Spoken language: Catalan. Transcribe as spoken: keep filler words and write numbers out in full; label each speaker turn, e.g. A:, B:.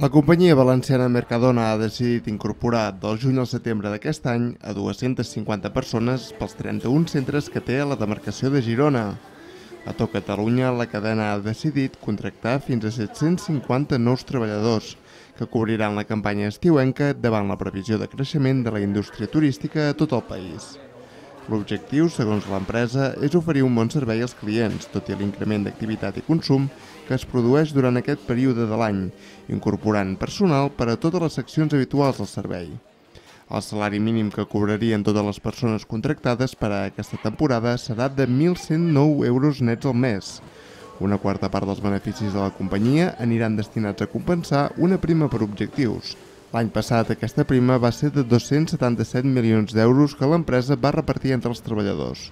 A: La companyia valenciana Mercadona ha decidit incorporar del juny al setembre d'aquest any a dues-centes cinquanta persones pels trenta-un centres que té a la demarcació de Girona. A tot Catalunya, la cadena ha decidit contractar fins a set-cents cinquanta nous treballadors que cobriran la campanya estiuenca davant la previsió de creixement de la indústria turística a tot el país. L'objectiu, segons l'empresa, és oferir un bon servei als clients, tot i l'increment d'activitat i consum que es produeix durant aquest període de l'any, incorporant personal per a totes les seccions habituals del servei. El salari mínim que cobrarien totes les persones contractades per a aquesta temporada serà de mil cent nou euros nets al mes. Una quarta part dels beneficis de la companyia aniran destinats a compensar una prima per objectius. L'any passat aquesta prima va ser de dos-cents setanta-set milions d'euros que l'empresa va repartir entre els treballadors.